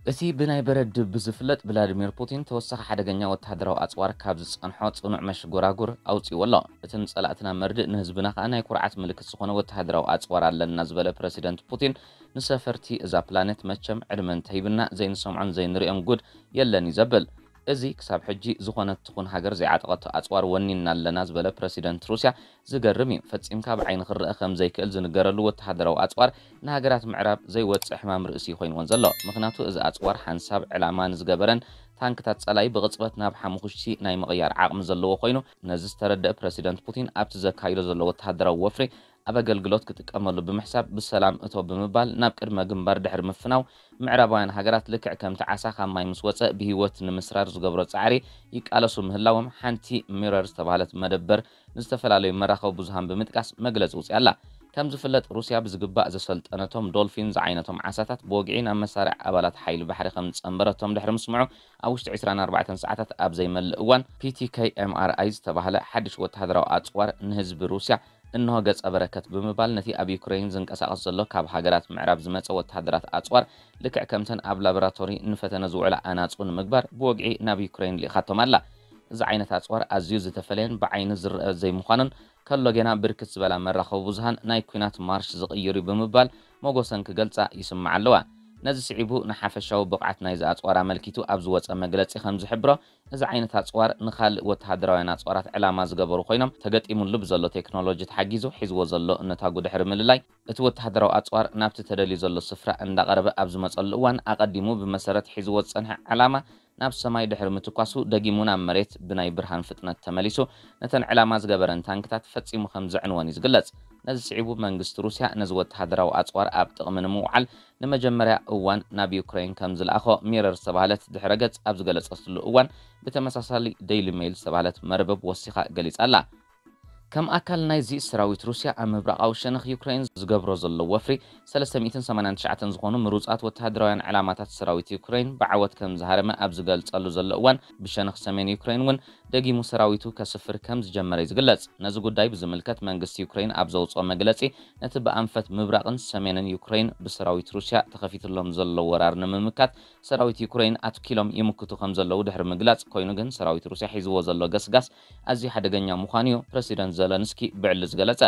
እቲ ብናይ በረድ ድብ ዝፍለጥ ቭላድሚር ፑቲን ተወሳኺ ሓደገኛ ወተሃደራዊ ኣጽዋር ካብ ዝጸንሖ ጽኑዕ መሽጎራጉር ኣውጺዎ ኣሎ። እቲ ንጸላእትና መርድእ ንህዝብና ከኣ ናይ ኩርዓት ምልክት ዝኾነ ወተሃደራዊ ኣጽዋር ኣለና ዝበለ ፕረሲደንት ፑቲን፣ ንሰፈርቲ እዛ ፕላኔት መቸም ዕድመ እንተሂብና ዘይንሰምዖን ዘይንርእዮን ጉድ የለን እዩ ዘብል። እዚ ክሳብ ሕጂ ዝኾነት ትኹን ሃገር ዘይዓጠቐቶ ኣጽዋር ወኒንና ኣለና ዝበለ ፕረሲደንት ሩስያ፣ ዝገርም እዩ። ፈጺምካ ብዓይኒ ክረአ ከም ዘይክእል ዝንገረሉ ወተሃደራዊ ኣጽዋር ንሃገራት ምዕራብ ዘይወጽእ ሕማም ርእሲ ኮይንወን ዘሎ። ምኽንያቱ እዚ ኣጽዋር ሓንሳብ ዕላማ ንዝገበረን ታንክታት ጸላኢ ብቕጽበት ናብ ሓሙኽሽቲ ናይ ምቕያር ዓቕሚ ዘለዎ ኮይኑ፣ ነዚ ዝተረደአ ፕረሲደንት ፑቲን ኣብቲ ዘካይዶ ዘሎ ወተሃደራዊ ወፍሪ ኣብ ኣገልግሎት ክጥቀመሉ ብምሕሳብ ብሰላም እቶ ብምባል ናብ ቅድመ ግንባር ድሕሪ ምፍናው፣ ምዕራባውያን ሃገራት ልክዕ ከምቲ ዓሳ ካብ ማይ ምስ ወጸ ብህይወት ንምስራር ዝገብሮ ጻዕሪ ይቃለሱ ምህላዎም ሓንቲ ሚረር ዝተባህለት መደበር ንዝተፈላለዩ መራኸቢ ብዙሃን ብምጥቃስ መግለጺ ውጽያ ኣላ። ከም ዝፍለጥ ሩስያ ብዝግባእ ዘሰልጠነቶም ዶልፊን ዝዓይነቶም ዓሳታት ብወግዒ ናብ መሳርዕ ኣባላት ሓይሊ ባሕሪ ከም ዝጸንበረቶም ድሕሪ ምስምዑ ኣብ ውሽጢ ዕስራን ኣርባዕተን ሰዓታት ኣብ ዘይመልእ እዋን ፒ ቲ ከይ ኤም ኣር ኣይ ዝተባህለ ሓድሽ ወተሃደራዊ ኣጽዋር ንህዝቢ ሩስያ እንሆ ገጸ በረከት ብምባል ነቲ ኣብ ዩክሬን ዝንቀሳቐስ ዘሎ ካብ ሃገራት ምዕራብ ዝመጸ ወተሃደራት ኣጽዋር ልክዕ ከምተን ኣብ ላቦራቶሪ ንፈተነ ዝውዕላ ኣናጹ ንምግባር ብወግዒ ናብ ዩክሬን ልኢኻቶም ኣላ። እዚ ዓይነት ኣጽዋር ኣዝዩ ዝተፈለየን ብዓይኒ ዝረአ ዘይምዃኑን ከሎ ጌና ብርክት ዝበላ መራኸቢ ብዙሃን ናይ ኲናት ማርሽ ዝቕይር እዩ ብምባል መጎሰን ክገልጻ ይስምዓ ኣለዋ። ነዚ ስዒቡ ንሓፈሻዊ ብቕዓት ናይዚ ኣጽዋር ኣመልኪቱ ኣብ ዝወጸ መግለጺ ከም ዝሕብሮ፣ እዚ ዓይነት ኣጽዋር ንኻልእ ወተሃደራውያን ኣጽዋራት ዕላማ ዝገበሩ ኮይኖም፣ ተገጢሙሉ ብዘሎ ቴክኖሎጂ ተሓጊዙ ሒዝዎ ዘሎ እነታጉ ድሕሪ ምልላይ፣ እቲ ወተሃደራዊ ኣጽዋር ናብቲ ተደልዩ ዘሎ ስፍራ እንዳቐረበ ኣብ ዝመጸሉ እዋን፣ ኣቐዲሙ ብመሰረት ሒዝዎ ዝጸንሐ ዕላማ ናብ ሰማይ ድሕሪ ምትኳሱ፣ ደጊሙ ናብ መሬት ብናይ ብርሃን ፍጥነት ተመሊሱ፣ ነተን ዕላማ ዝገበረን ታንክታት ፈጺሙ ከም ዘዕንወን እዩ ዝግለጽ። ነዚ ስዒቡ መንግስቲ ሩስያ ነዚ ወተሃደራዊ ኣጽዋር ኣብ ጥቕሚ ንምውዓል ንመጀመርያ እዋን ናብ ዩክሬን ከም ዝለኣኾ ሚረር ዝተባህለት ድሕረ ገጽ ኣብ ዝገለጸትሉ እዋን፣ ብተመሳሳሊ ዴይሊ ሜይል ዝተባህለት መርበብ ወሲኻ ገሊጻ ኣላ። ከም ኣካል ናይዚ፣ ሰራዊት ሩስያ ኣብ ምብራቓዊ ሸነኽ ዩክሬን ዝገብሮ ዘሎ ወፍሪ፣ ሰለስተ ሚእትን ሰማንያን ትሽዓተን ዝኾኑ ምሩጻት ወተሃደራውያን ዕላማታት ሰራዊት ዩክሬን ብዓወት ከም ዝሃረመ ኣብ ዝገልጸሉ ዘሎ እዋን፣ ብሸነኽ ሰሜን ዩክሬን እውን ደጊሙ ሰራዊቱ ከስፍር ከም ዝጀመረ እዩ ዝግለጽ። ነዚ ጉዳይ ብዝምልከት መንግስቲ ዩክሬን ኣብ ዘውጽኦ መግለጺ፣ ነቲ ብኣንፈት ምብራቕን ሰሜንን ዩክሬን ብሰራዊት ሩስያ ተኸፊትሎም ዘሎ ወራር ንምምካት ሰራዊት ዩክሬን ኣትኪሎም ይምክቱ ከም ዘለዉ ድሕሪ ምግላጽ፣ ኮይኑ ግን ሰራዊት ሩስያ ሒዝዎ ዘሎ ገስጋስ ኣዝዩ ሓደገኛ ምዃኑ እዩ ፕረሲደንት ዘለንስኪ ብዕሊ ዝገለጸ።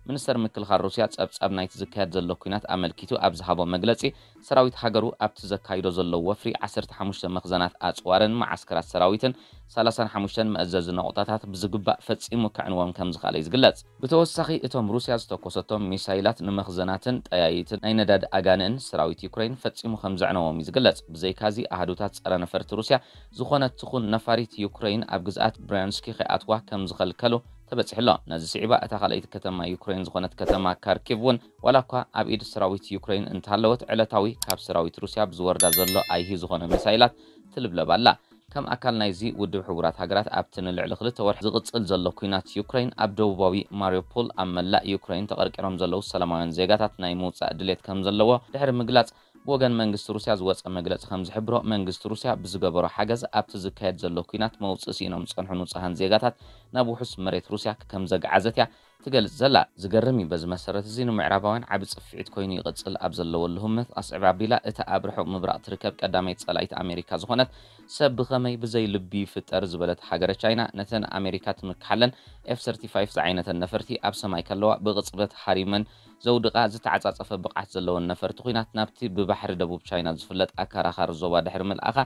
ሚኒስተር ምክልኻል ሩስያ ጸብጻብ ናይቲ ዝካየድ ዘሎ ኲናት ኣመልኪቱ ኣብ ዝሃቦ መግለጺ፣ ሰራዊት ሃገሩ ኣብቲ ዘካይዶ ዘሎ ወፍሪ ዓሰርተ ሓሙሽተ መኽዘናት ኣጽዋርን መዓስከራት ሰራዊትን ሰላሳን ሓሙሽተን መእዘዚ ነቑጣታት ብዝግባእ ፈጺሙ ከዕንዎም ከም ዝኸኣለ እዩ ዝግለጽ። ብተወሳኺ፣ እቶም ሩስያ ዝተኮሰቶም ሚሳይላት ንመኽዘናትን ጠያይትን ናይ ነዳዲ ኣጋንእን ሰራዊት ዩክሬን ፈጺሙ ከም ዘዕነዎም እዩ ዝግለጽ። ብዘይካዚ፣ ኣሃዱታት ጸረ ነፈርቲ ሩስያ ዝኾነት ትኹን ነፋሪት ዩክሬን ኣብ ግዝኣት ብሪያንስኪ ከይኣትዋ ከም ዝኸልከሉ ተበጺሑ ኣሎ። ነዚ ስዒባ፣ እታ ካልኣይቲ ከተማ ዩክሬን ዝኾነት ከተማ ካርኪቭ እውን፣ ዋላ እኳ ኣብ ኢድ ሰራዊት ዩክሬን እንተሃለወት፣ ዕለታዊ ካብ ሰራዊት ሩስያ ብዝወርዳ ዘሎ ኣይሂ ዝኾነ ሚሳይላት ትልብለብ ኣላ። ከም ኣካል ናይዚ፣ ውድብ ሕቡራት ሃገራት ኣብቲ ንልዕሊ ክልተ ወርሒ ዝቕጽል ዘሎ ኲናት ዩክሬን፣ ኣብ ደቡባዊ ማሪዮፖል ኣብ መላእ ዩክሬን ተቐርቂሮም ዘለዉ ሰላማውያን ዜጋታት ናይ ምውጻእ ድሌት ከም ዘለዎ ድሕሪ ምግላጽ፣ ብወገን መንግስቲ ሩስያ ዝወጸ መግለጺ ከም ዝሕብሮ፣ መንግስቲ ሩስያ ብዝገበሮ ሓገዝ ኣብቲ ዝካየድ ዘሎ ኲናት መውጽኢ ስኢኖም ዝጸንሑ ንጹሃን ዜጋታት ናብ ውሑስ መሬት ሩስያ ከም ዘግዓዘት እያ ትገልጽ ዘላ። ዝገርም እዩ። በዚ መሰረት እዚ፣ ንምዕራባውያን ዓቢ ጽፍዒት ኮይኑ ይቕጽል ኣብ ዘለወሉ ህሞት፣ ኣስዕብ ኣቢላ እታ ኣብ ርሑቕ ምብራቕ ትርከብ ቀዳመይቲ ጸላኢት ኣሜሪካ ዝኾነት፣ ሰብ ብኸመይ ብዘይ ልቢ ይፍጠር ዝበለት ሃገረ ቻይና፣ ነተን ኣሜሪካ ትምክሓለን ኤፍ ሰርቲፋይቭ ዝዓይነተን ነፈርቲ ኣብ ሰማይ ከለዋ ብቕጽበት ሃሪመን ዘውድቓ፣ ዝተዓጻጸፈ ብቕዓት ዘለወን ነፈርቲ ኲናት ናብቲ ብባሕሪ ደቡብ ቻይና ዝፍለጥ ኣከራኻሪ ዞባ ድሕሪ ምልኣኻ፣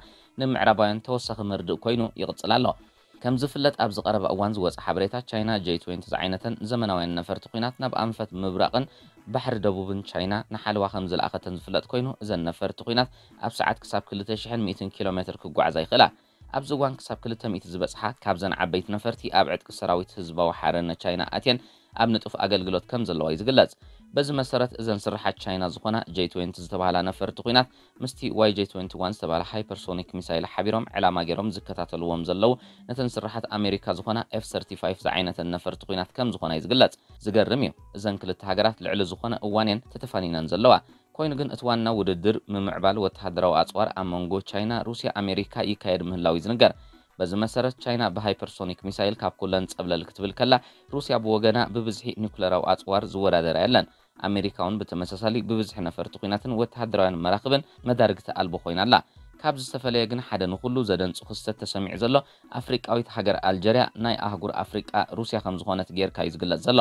ንምዕራባውያን ተወሳኺ መርድእ ኮይኑ ይቕጽል ኣሎ። ከም ዝፍለጥ፣ ኣብዚ ቀረባ እዋን ዝወጸ ሓበሬታ፣ ቻይና ጄ ትዌንቲ ዝዓይነተን ዘመናውያን ነፈርቲ ኲናት ናብ ኣንፈት ምብራቕን ባሕሪ ደቡብን ቻይና ንሓለዋ ከም ዝለኣኸተን ዝፍለጥ ኮይኑ፣ እዘን ነፈርቲ ኲናት ኣብ ሰዓት ክሳብ ክልተ ሽሕን ሚእትን ኪሎ ሜትር ክጓዓዛ ይኽእላ። ኣብዚ እዋን ክሳብ ክልተ ሚእቲ ዝበጽሓ ካብዘን ዓበይቲ ነፈርቲ ኣብ ዕጥቂ ሰራዊት ህዝባዊ ሓርነት ቻይና ኣትየን ኣብ ንጡፍ ኣገልግሎት ከም ዘለዋ እዩ ዝግለጽ። በዚ መሰረት፣ እዘን ስርሓት ቻይና ዝኾና ጄ ትዌንቲ ዝተባህላ ነፈርቲ ኲናት ምስቲ ዋይ ጄ ትዌንቲ ዋን ዝተባህለ ሃይፐርሶኒክ ሚሳይል ሓቢሮም ዕላማ ገይሮም ዝከታተልዎም ዘለዉ፣ ነተን ስርሓት ኣሜሪካ ዝኾና ኤፍ ሰርቲፋይቭ ዝዓይነተን ነፈርቲ ኲናት ከም ዝኾና እዩ ዝግለጽ። ዝገርም እዩ። እዘን ክልተ ሃገራት ልዕሊ ዝኾነ እዋን እየን ተተፋኒነን ዘለዋ። ኮይኑ ግን፣ እቲ ዋና ውድድር ምምዕባል ወተሃደራዊ ኣጽዋር ኣብ መንጎ ቻይና፣ ሩስያ፣ ኣሜሪካ ይካየድ ምህላው እዩ ዝንገር። በዚ መሰረት፣ ቻይና ብሃይፐርሶኒክ ሚሳይል ካብ ኩለን ጸብለል ክትብል ከላ፣ ሩስያ ብወገና ብብዝሒ ኒኩለራዊ ኣጽዋር ዝወዳደራ የለን። ኣሜሪካ እውን ብተመሳሳሊ ብብዝሒ ነፈርቲ ኲናትን ወተሃደራውያን መራኽብን መዳርግቲ ኣልቦ ኮይና ኣላ። ካብ ዝተፈለየ ግን ሓደ ንኹሉ ዘደንጹ ክስተት ተሰሚዑ ዘሎ፣ ኣፍሪቃዊት ሃገር ኣልጀርያ ናይ ኣህጉር ኣፍሪቃ ሩስያ ከም ዝኾነት ጌርካ እዩ ዝግለጽ ዘሎ።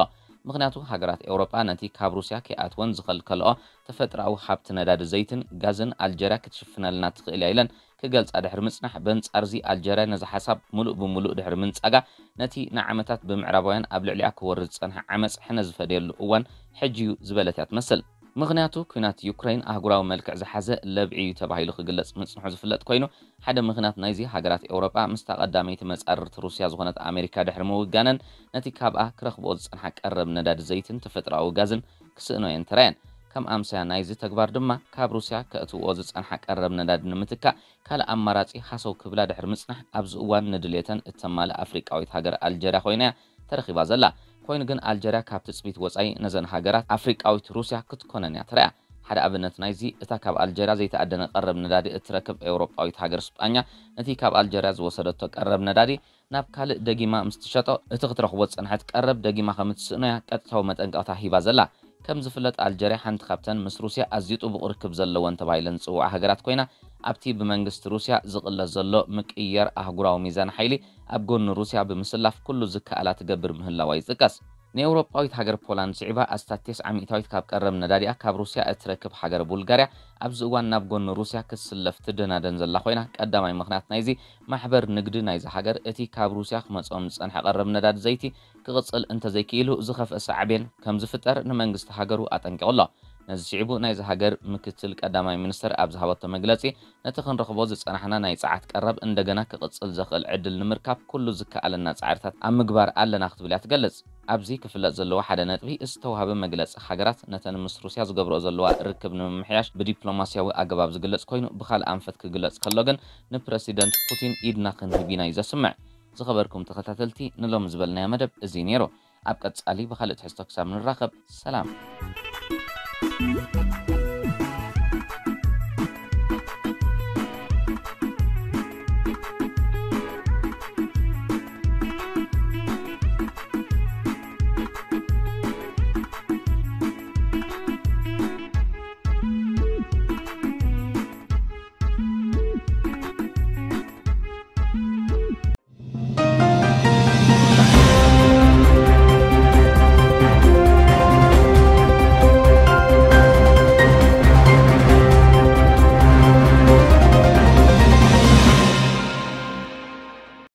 ምኽንያቱ ሃገራት ኤውሮጳ ነቲ ካብ ሩስያ ከይኣትወን ዝኸልከልኦ ተፈጥሮኣዊ ሃብቲ ነዳዲ ዘይትን ጋዝን ኣልጀርያ ክትሽፍነልና ትኽእል እያ ኢለን ክገልጻ ድሕሪ ምጽናሕ፣ በንጻርዚ ኣልጀርያ ነዚ ሓሳብ ምሉእ ብምሉእ ድሕሪ ምንጻጋ፣ ነቲ ንዓመታት ብምዕራባውያን ኣብ ልዕሊኣ ክወርድ ዝጸንሐ ዓመጽ ሕነ ዝፈደየሉ እዋን ሕጂ እዩ ዝበለት እያ ትመስል። ምኽንያቱ፣ ኲናት ዩክረይን ኣህጉራዊ መልክዕ ዝሓዘ ለብዒ እዩ ተባሂሉ ክግለጽ ምጽንሑ ዝፍለጥ ኮይኑ፣ ሓደ ምኽንያት ናይዚ፣ ሃገራት ኤውሮጳ ምስታ ቀዳመይቲ መጻርርቲ ሩስያ ዝኾነት ኣሜሪካ ድሕሪ ምውጋነን፣ ነቲ ካብኣ ክረኽብኦ ዝጸንሓ ቀረብ ነዳዲ ዘይትን ተፈጥሮኣዊ ጋዝን ክስእኖ እየን ተራየን። ከም ኣምሳያ ናይዚ ተግባር ድማ፣ ካብ ሩስያ ከእትውኦ ዝጸንሓ ቀረብ ነዳዲ ንምትካእ ካልእ ኣማራጺ ሃሰው ክብላ ድሕሪ ምጽናሕ፣ ኣብዚ እዋን ንድሌተን እተማልእ ኣፍሪቃዊት ሃገር ኣልጀርያ ኮይና እያ ተረኺባ ዘላ። ኮይኑ ግን ኣልጀርያ ካብ ትጽቢት ወጻኢ ነዘን ሃገራት ኣፍሪቃዊት ሩስያ ክትኮነን እያ ተራእያ። ሓደ ኣብነት ናይዚ፣ እታ ካብ ኣልጀርያ ዘይተኣደነ ቀረብ ነዳዲ እትረክብ ኤውሮጳዊት ሃገር ስጳኛ፣ ነቲ ካብ ኣልጀርያ ዝወሰደቶ ቀረብ ነዳዲ ናብ ካልእ ደጊማ ምስ ትሸጦ፣ እቲ ክትረኽቦ ዝጸንሐት ቀረብ ደጊማ ከም እትስእኖ እያ ቀጥታዊ መጠንቀቕታ ሂባ ዘላ። ከም ዝፍለጥ፣ ኣልጀርያ ሓንቲ ካብተን ምስ ሩስያ ኣዝዩ ጥቡቕ ርክብ ዘለወን ተባሂለን ዝጽውዓ ሃገራት ኮይና፣ ኣብቲ ብመንግስቲ ሩስያ ዝቕለስ ዘሎ ምቅይያር ኣህጉራዊ ሚዛን ሓይሊ ኣብ ጎኒ ሩስያ ብምስላፍ ኩሉ ዝከኣላ ትገብር ምህላዋ ይጥቀስ። ንኤውሮጳዊት ሃገር ፖላንድ ስዒባ፣ ኣስታት ተስዓ ሚእታዊት ካብ ቀረብ ነዳዲኣ ካብ ሩስያ እትረክብ ሃገር ቡልጋርያ፣ ኣብዚ እዋን ናብ ጎኒ ሩስያ ክትስለፍ ትደናደን ዘላ ኮይና፣ ቀዳማይ ምኽንያት ናይዚ፣ ማሕበር ንግዲ ናይዚ ሃገር እቲ ካብ ሩስያ ክመጽኦም ዝጸንሐ ቀረብ ነዳዲ ዘይቲ ክቕጽል እንተዘይክኢሉ፣ ዝኸፍአ ሳዕቤን ከም ዝፍጠር ንመንግስቲ ሃገሩ ኣጠንቂቑ ኣሎ። ነዚ ስዒቡ፣ ናይዚ ሃገር ምክትል ቀዳማይ ሚኒስተር ኣብ ዝሃበቶ መግለጺ፣ ነቲ ክንረኽቦ ዝጸናሕና ናይ ጸዓት ቀረብ እንደገና ክቕጽል ዘኽእል ዕድል ንምርካብ፣ ኩሉ ዝከኣለና ጻዕርታት ኣብ ምግባር ኣለና ክትብል እያ ትገልጽ። ኣብዚ ክፍለጥ ዘለዎ ሓደ ነጥቢ፣ ዝተዋህበ መግለጺ ሃገራት ነተን ምስ ሩስያ ዝገብርኦ ዘለዋ ርክብ ንምምሕያሽ ብዲፕሎማስያዊ ኣገባብ ዝግለጽ ኮይኑ፣ ብኻልእ ኣንፈት ክግለጽ ከሎ ግን፣ ንፕረሲደንት ፑቲን ኢድና ክንህብ ኢና እዩ ዘስምዕ። ዝኸበርኩም ተኸታተልቲ፣ ንሎሚ ዝበልናዮ መደብ እዚ ነይሩ። ኣብ ቀጻሊ ብኻልእ ትሕዝቶ ክሳብ ንራኸብ፣ ሰላም።